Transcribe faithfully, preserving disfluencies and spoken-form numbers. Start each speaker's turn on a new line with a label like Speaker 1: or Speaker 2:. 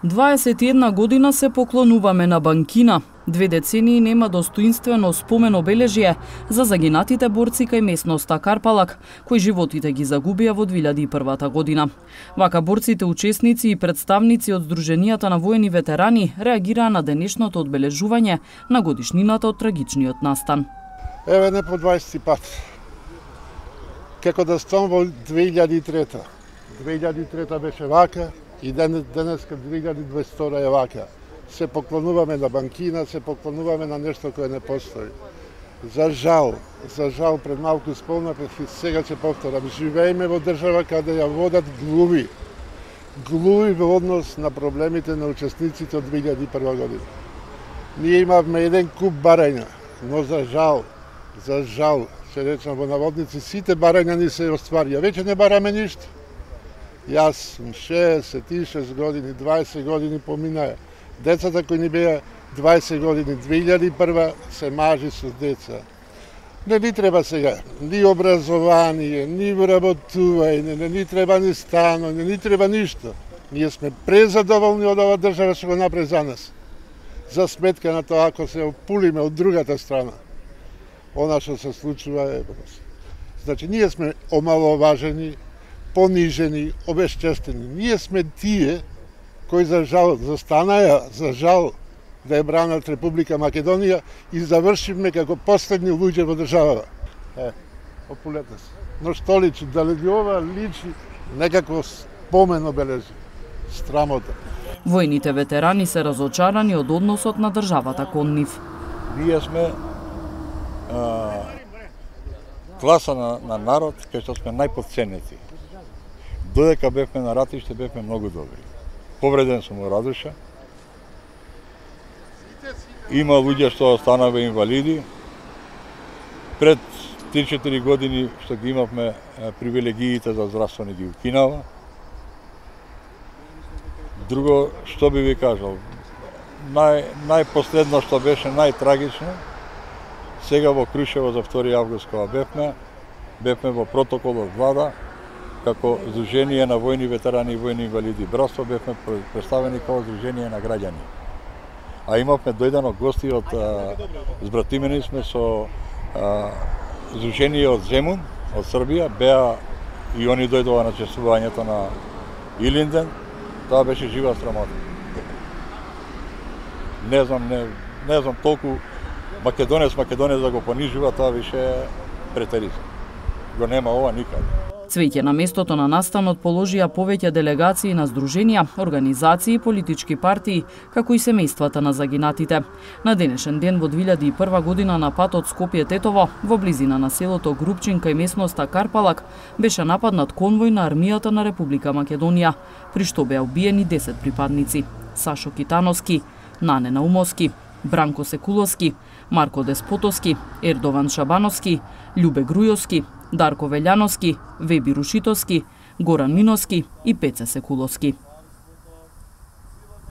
Speaker 1: дваесет и една година се поклонуваме на Банкина. Две децении нема достоинствено спомен обележје за загинатите борци кај местноста Карпалак, кои животите ги загубија во две илјади и прва година. Вака борците, учесници и представници од Сдруженијата на воени ветерани реагираа на денешното одбележување на годишнината од трагичниот настан.
Speaker 2: Еве не по дваесети пат. Како да стам во две илјади и трета. две илјади и трета беше вака и денеска две илјади и дваесет и втора е вака. Се поклонуваме на Банкина, се поклонуваме на нешто кое не постои. За жал, за жал пред малку спомнав и сега ќе повторам, живееме во држава каде ја водат глуви. Глуви во однос на проблемите на учесниците од две илјади и прва година. Ние имавме еден куп барања, но за жал, за жал, се речам во наводници, сите барања ни се остварија. Веќе не бараме ништо. Јас сум шеесет и шест години, дваесет години поминаа. Децата кои ни беа дваесет години, две илјади и прва, се мажи со деца. Не ни треба сега ни образование, ни вработување, не ни треба ни стано, не ни треба ништо. Ние сме презадоволни од ова држава што го направи за нас. За сметка на тоа, ако се опулиме од другата страна, она што се случува е... Значи, ние сме омаловажени, понижени, обесчестени. Ние сме тие кои за жал застанаја, за жал да ја бранат Република Македонија и завршивме како последни луѓе во државата. Е, опулете се. Но што личи? Дали ли ова личи некако спомен обележи? Страмота.
Speaker 1: Војните ветерани се разочарани од односот на државата кон нив.
Speaker 3: Ние сме а, класа на, на народ кај што сме најподценети. Додека бевме на ратиште, бевме многу добри. Повреден сум во Радуша. Има луѓе што останаве инвалиди. Пред три-четири години што ги имавме привилегиите за здравствени ги укинава. Друго, што би ви кажал, нај, најпоследно што беше најтрагично, сега во Крушево за втори август кога бевме, бевме во протокол од влада, како Сдружение на војни ветерани и војни инвалиди братство, бевме представени како Сдружение на граѓани. А имавме дојдено гости од збратимени сме со а, Сдружение од Земун, од Србија, беа и они дојдоа на чествувањето на Илинден. Тоа беше жива срамота. Не знам, не, не знам толку македонец, македонец да го понижува, тоа више претеризм. Го нема ова никаде.
Speaker 1: Цвеќе на местото на настанот положија повеќе делегации на здруженија, организации и политички партии, како и семејствата на загинатите. На денешен ден во две илјади и прва година на патот Скопје-Тетово, во близина на селото Групчин кај местноста Карпалак, беше нападнат конвој на армијата на Република Македонија, при што беа убиени десет припадници. Сашо Китановски, Нане Наумовски, Бранко Секуловски, Марко Деспотовски, Ердован Шабановски, Љубе Грујовски, Дарко Велјановски, Веби Рушитовски, Горан Миновски и Пеце Секуловски.